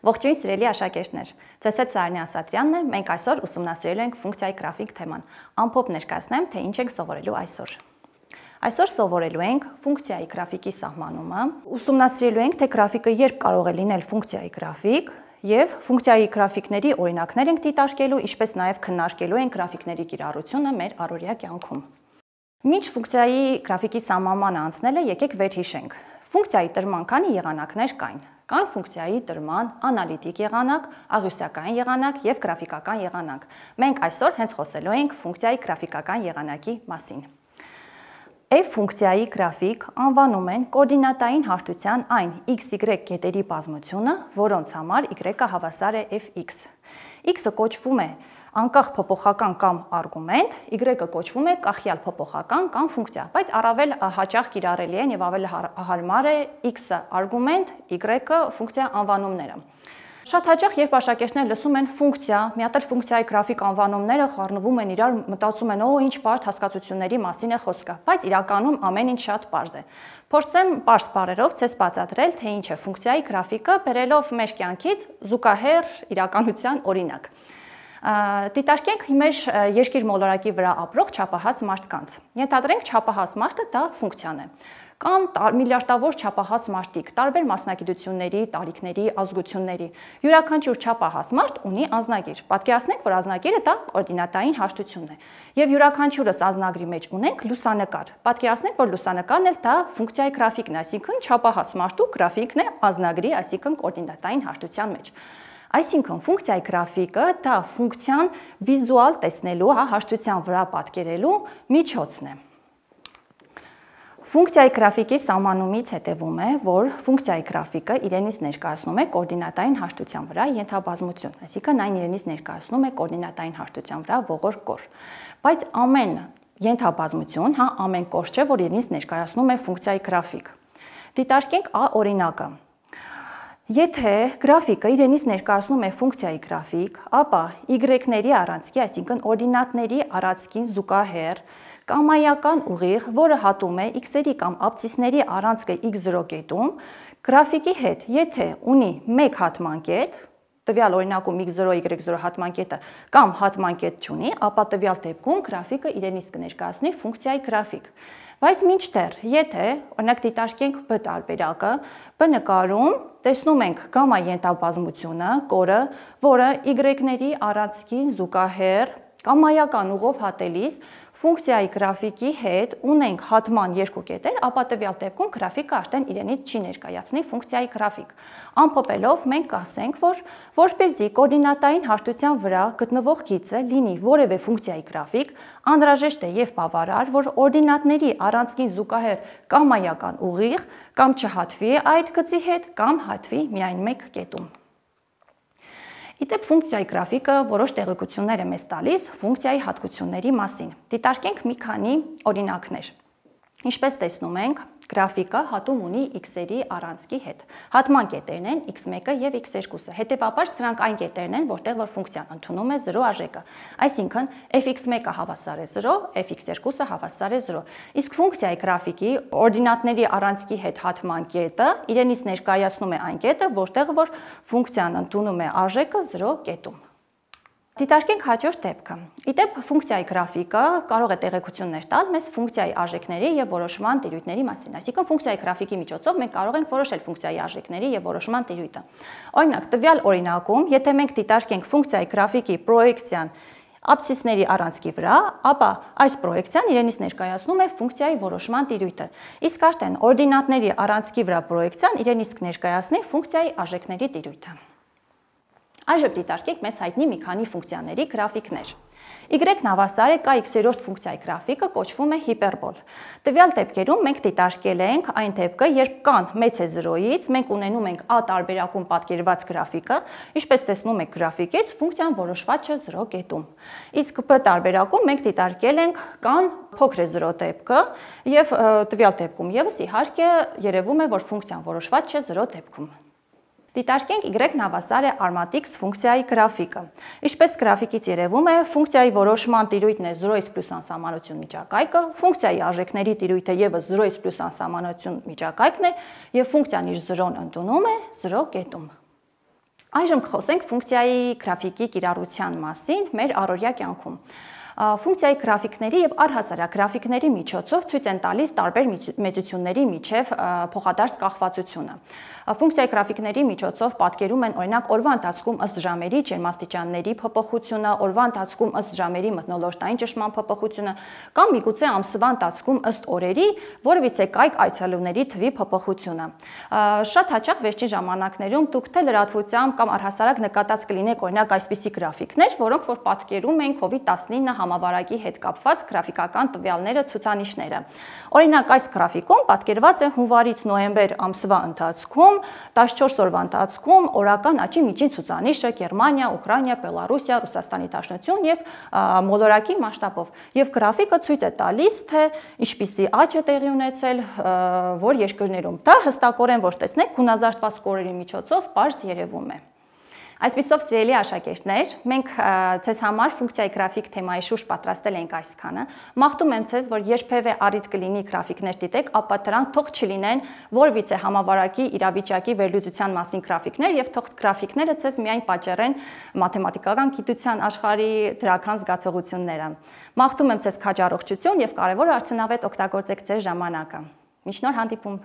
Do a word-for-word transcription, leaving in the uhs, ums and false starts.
Ողջույն սիրելի աշակերտներ, ձեզ հետ Սարինե Ասատրյանն է, մենք այսօր ուսումնասիրելու ենք ֆունկցիայի գրաֆիկ թեման, ամփոփ ներկայացնեմ, թե ինչ ենք սովորելու այսօր։ Այսօր սովորելու ենք ֆունկցիայի գրաֆիկի սահմանումը, ուսումնասիրելու ենք, թե գրաֆիկը երբ կարող է լինել ֆունկցիայի գրաֆիկ եւ ֆունկցիայի գրաֆիկների օրինակներ ենք դիտարկելու, ինչպես նաեւ քննարկելու ենք գրաֆիկների կիրառությունը մեր առօրյա կյանքում։ Մինչ ֆունկցիայի գրաֆիկի սահմանմանը անցնելը, եկեք վերհիշենք։ Ֆունկցիայի տրման քանի եղանակներ կային։ Կան ֆունկցիայի տրման անալիտիկ եղանակ, աղյուսակային եղանակ եւ գրաֆիկական եղանակ։ Մենք այսօր հենց խոսելու ենք ֆունկցիայի գրաֆիկական եղանակի մասին։ F ֆունկցիայի գրաֆիկ անվանում են կոորդինատային հարթության այն x y կետերի բազմությունը, որոնց համար y-ը հավասար է fx։ X-ը կոչվում է անկախ փոփոխական կամ արգումենտ, y-ը կոչվում է կախյալ փոփոխական կամ ֆունկցիա, բայց առավել հաճախ կիրառելի են եւ ավելի հարմար է x-ը արգումենտ, y-ը ֆունկցիա անվանումները։ Շատ հաճախ, երբ աշակերտները լսում են ֆունկցիա, մի հատ էլ ֆունկցիայի գրաֆիկ անվանումները խառնվում են իրար, մտածում են, օ, ինչ բարդ հասկացությունների մասին է խոսքը, բայց իրականում ամեն ինչ շատ պարզ է։ Փորձեմ պարզ բառերով ցես բացատրել, թե ինչ է ֆունկցիայի գրաֆիկը, բերելով մեր կյանքից զուգահեռ իրականության օրինակ։ Դիտարկենք մեր երկիր մոլորակի վրա ապրող չափահաս մարդկանց։ Ենթադրենք չափահաս մարդը դա ֆունկցիան է։ Կան միլիարդավոր չափահաս մարդիկ, տարբեր մասնագիտությունների, տարիքների, ազգությունների։ Յուրաքանչյուր չափահաս մարդ ունի անձնագիր։ Պատկերացնենք, որ անձնագիրը դա կոորդինատային հարթությունն է։ Եվ յուրաքանչյուրս անձնագրի մեջ ունենք լուսանկար։ Պատկերացնենք, որ լուսանկարն էլ դա ֆունկցիայի գրաֆիկն է, այսինքն չափահաս մարդու գրաֆիկն է անձնագրի, այսինքն կոորդինատային հարթության մեջ։ Այսինքն ֆունկցիայի գրաֆիկը դա ֆունկցիան վիզուալ տեսնելու, հա, հարթության վրա պատկերելու միջոցն է։ Ֆունկցիայի գրաֆիկի սահմանումից հետևում է, որ ֆունկցիայի գրաֆիկը իրենից ներկայացնում է կոորդինատային հարթության վրա ենթաբազմություն, այսինքն այն իրենից ներկայացնում է կոորդինատային հարթության վրա ողորկ կոր։ Բայց ամեն ենթաբազմություն, հա, ամեն կոր չէ, որ իրենից ներկայացնում է ֆունկցիայի գրաֆիկ։ Դիտարկենք Ա օրինակը։ Եթե գրաֆիկը իրենից ներկայացնում է ֆունկցիայի գրաֆիկ, ապա y-ների առանցքի, այսինքն օրդինատների առանցքին զուգահեռ կամայական ուղիղ, որը հատում է x-երի կամ աբսցիսների առանցքը x զիրո կետում, գրաֆիկի հետ, եթե ունի մեկ հատման կետ, տվյալ օրինակում x զիրո y զիրո հատման կետը կամ հատման կետ չունի, ապա տվյալ դեպքում գրաֆիկը իրենից կներկայացնի ֆունկցիայի գրաֆիկ։ Բայց մինչդեռ, եթե օրինակ դիտարկենք b տարբերակը, b նկարում տեսնում ենք գամմա ենթաբազմությունը, կորը, որը y-ների առանցքին զուգահեռ կամայական ուղով հատելիս ֆունկցիայի գրաֆիկի հետ ունենք հատման երկու կետեր, ապա տվյալ դեպքում գրաֆիկը արդեն իրենից չի ներկայացնի ֆունկցիայի գրաֆիկ։ Ամփոփելով մենք կասենք, որ որպեսզի կոորդինատային հարթության վրա գտնվող գիծը լինի որևէ ֆունկցիայի գրաֆիկ, անհրաժեշտ է եւ բավարար, որ օրդինատների առանցքին զուգահեռ կամայական ուղիղ կամ չհատվի այդ գծի հետ, կամ հատվի միայն մեկ կետում։ Իդեպ ֆունկցիայի գրաֆիկը որոշ տեղեկություններ է մեզ տալիս ֆունկցիայի հատկությունների մասին։ Դիտարկենք մի քանի օրինակներ։ Ինչպես տեսնում ենք, գրաֆիկը հատում ունի x-երի առանցքի հետ։ Հատման կետերն են x մեկը եւ x երկուսը։ Հետևաբար սրանք այն կետերն են, որտեղ որ ֆունկցիան ընդունում է զիրո արժեքը։ Այսինքն f(x մեկը) հավասար է զիրո, f(x երկուսը) հավասար է զիրո։ Իսկ ֆունկցիայի գրաֆիկի օրդինատների առանցքի հետ հատման կետը իրենից ներկայացնում է այն կետը, որտեղ որ ֆունկցիան ընդունում է արժեքը զիրո կետում։ Դիտարկենք հաջորդ դեպքը։ Իդեպ ֆունկցիայի գրաֆիկը կարող է տեղեկություններ տալ մեզ ֆունկցիայի արժեքների եւ որոշման տիրույթների մասին։ Այսինքն ֆունկցիայի գրաֆիկի միջոցով մենք կարող ենք որոշել ֆունկցիայի արժեքների եւ որոշման տիրույթը։ Օրինակ, տվյալ օրինակում, եթե մենք դիտարկենք ֆունկցիայի գրաֆիկի պրոյեկցիան աբսցիսների առանցքի վրա, ապա այս պրոյեկցիան իրենից ներկայացնում է ֆունկցիայի որոշման տիրույթը։ Իսկ արդեն օրդինատների առանցքի վրա պրոյեկցիան իրենից կներկայացնի ֆունկցիայի արժեքների տիրույթը։ Այժմ դիտարկենք մեզ հայտնի մի քանի ֆունկցիաների գրաֆիկներ։ Y-ն հավասար է kx-րդ ֆունկցիայի գրաֆիկը կոչվում է հիպերբոլ։ Տվյալ դեպքերում մենք դիտարկել ենք այն դեպքը, երբ կան մեծ է զիրոյից, մենք ունենում ենք a տարբերակում պատկերված գրաֆիկը, ինչպես տեսնում եք գրաֆիկից, ֆունկցիան որոշված չէ զիրո կետում։ Իսկ b տարբերակում մենք դիտարկել ենք կան փոքր է զիրո դեպքը եւ տվյալ դեպքում եւս իհարկե երևում է, որ ֆունկցիան որոշված չէ զիրո դեպքում։ Դիտարկենք y-ն հավասար է armatix ֆունկցիայի գրաֆիկը։ Ինչպես գրաֆիկից երևում է, ֆունկցիայի որոշման տիրույթն է զիրոից պլյուս անսահմանություն միջակայքը, ֆունկցիայի արժեքների տիրույթը եւս զիրոից պլյուս անսահմանություն միջակայքն է, եւ ֆունկցիան իր զիրոն ընդունում է զիրո կետում։ Այժմ կխոսենք ֆունկցիայի գրաֆիկի կիրառության մասին մեր առօրյա կյանքում։ Ֆունկցիայի գրաֆիկների եւ առհասարակ գրաֆիկների միջոցով ցույց են տալիս տարբեր մեծությունների միջև փոխադարձ կախվածությունը։ Ֆունկցիայի գրաֆիկների միջոցով պատկերում են օրինակ օրվա ընթացքում ըստ ժամերի ջերմաստիճանների փոփոխությունը, օրվա ընթացքում ըստ ժամերի մթնոլորտային ճնշման փոփոխությունը, կամ միգուցե ամսվա ընթացքում ըստ օրերի որևիցե կայք այցելուների թվի փոփոխությունը։ Շատ հաճախ վերջին ժամանակներում դուք թե լրատվությամբ կամ առհասարակ նկատած կլինեք օրինակ այսպիսի գրաֆիկներ, որոնք որ պատկերում են կովիդ տասնինը համավարակի հետ կապված գրաֆիկական տվյալները, ցուցանիշները։ Օրինակ այս գրաֆիկում պատկերված է հունվարից նոյեմբեր ամսվա ընթացքում տասնչորս օրվա ընթացքում օրական աճի միջին ցուցանիշը Գերմանիա, Ուկրաինա, Բելարուսիա, Ռուսաստանի Դաշնություն եւ մոլորակի մասշտաբով։ Եվ գրաֆիկը ցույց է տալիս, թե ինչպիսի աճ է տեղի ունեցել որ երկրներում։ Դա հստակորեն որ տեսնեք գունազարդված կորերի միջոցով պարզ երևում է։ Այսպիսով սիրելի աշակերտներ, մենք ձեզ համար ֆունկցիայի գրաֆիկ թեմայի շուրջ պատրաստել ենք այսքանը։ Մաղթում եմ ձեզ, որ երբևէ առիթ կլինի գրաֆիկներ դիտեք, ապա դրանք թող չլինեն որևիցե համավարակի իրավիճակի վերլուծության մասին գրաֆիկներ եւ թող գրաֆիկները ձեզ միայն պատճառեն մաթեմատիկական գիտության աշխարհի դրական զգացողությունները։ Մաղթում եմ ձեզ քաջառողջություն եւ կարեւոր արդյունավետ օգտագործեք ձեր ժամանակը։ Մինչ նոր հանդիպում։